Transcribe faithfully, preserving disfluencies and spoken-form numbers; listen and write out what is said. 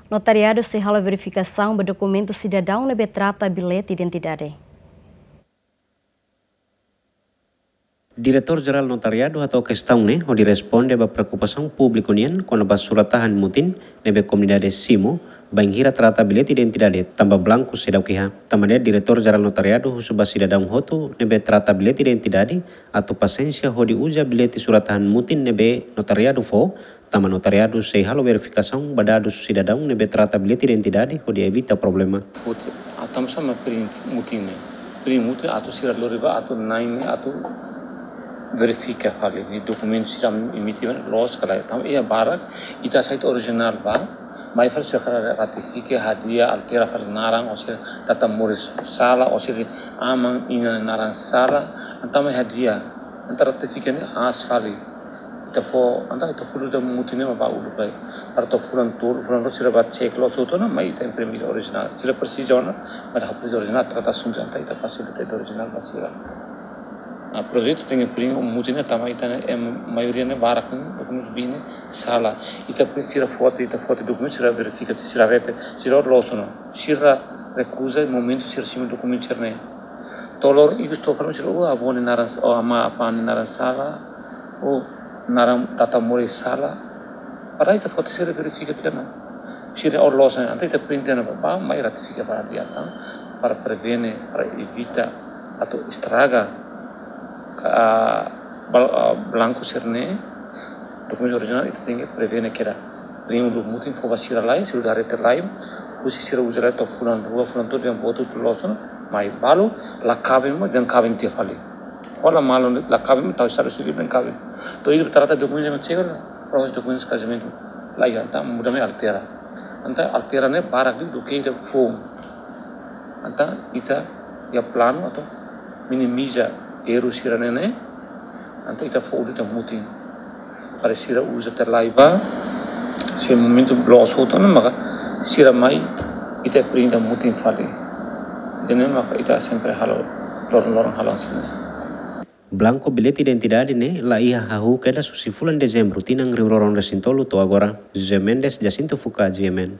Notariadu sei halo verifikasaun ba dokumentu sidadaun ne'ebé trata bilhete identidade. Diretór Jerál Notariadu hato'o kestaun ne'e hodi responde ba preokupasaun públiku nian kona-ba surat-tahan mutin ne'ebé komunidade simu, bainhira trata bilhete identidade tanba blanku seidauk iha. Tanba ne'e Diretór Jerál Notariadu husu ba sidadaun hotu ne'ebé trata bilhete identidade atu pasiénsia hodi uza bilhete surat-tahan mutin ne'ebé notariadu fó, tanba notariadu sei halo verifikasaun ba dadus sidadaun ne'ebé trata bilhete identidade hodi evita problema. Put, atam sama print mutin ne'e. Print mutin atu sira lori ba atu nain ne'e atu verifika fali ne'e dokumentu sira emite ba ne'e loos ka lae. Tanba iha barak ita hasai tiha orijinál ba, mai fali sira hakarak ratifika, hadi'a, altera fali naran, ou seja, data moris sala, ou seja, aman inan naran sala, entaun mai hadi'a, entaun ratifika ne'e aas fali. Ita fó, entaun ita fó uluk ita mutin ne'e mak ba uluk lai. Para to'o fulan tolu, fulan rua sira ba cek loos hotu ona, mai ita imprime orijinál. Sira presiza ona, mai hapus orijinál, trata asuntu entaun ita fasilita ita orijinál ba sira. Nah, projetu tenke print mutin ne'e tanba ita ne'e, em, maioria ne'e barak ne'e dokumentu bin ne'e sala. Ita print sira foti, ita foti dokumentu sira verifika, sira rete, sira loos ona. Sira rekuza momentu sira simu dokumentu sira-ne'e. To'o loron ikus to'o fali sira, oh, avó nia naran, oh, amá apá nia naran sala, oh, naran data moris sala. Para ita foti sira verifika tiha ona. Sira, oh, loos ona, entaun ita print tiha ona ba, ba, mai ratifika fali hadi'a tan, para prevene, para evita atu estraga ka, ah, bal-, ah, blanku sira-ne'e, dokumentu orijinál ita tenke prevene kera. Print uluk mutin fó ba sira lai, sira uza rete lai, husi sira uza lai to'o fulan rua, fulan tolu, dehan boot hotu loos ona, mai balu, la kaben mak, dehan kaben tiha fali. Hola malu ne'e, la kaben mak, tau estadu sivíl dehan kaben. To'o ita trata dokumentu mak cek ona, prova dokumentu kazamentu. La iha, entaun muda mai altera. Entaun altera ne'e barak liu duké ita fó. Entaun ita iha planu atu minimiza erru sira-ne'e ne'e, entaun ita fó uluk ita mutin. Para sira uza tiha lai ba, se momentu loos hotu ona maka sira mai ita print ita mutin fali. Ida-ne'e maka ita sempre halo, loron-loron halo hanesan ne'e. Blanku bilhete identidade ne'e la iha hahú kedas husi fulan Dezembru tinan rihun rua ruanulu resin tolu to'o agora. José Mendes, Jacinto Fuka, G M N.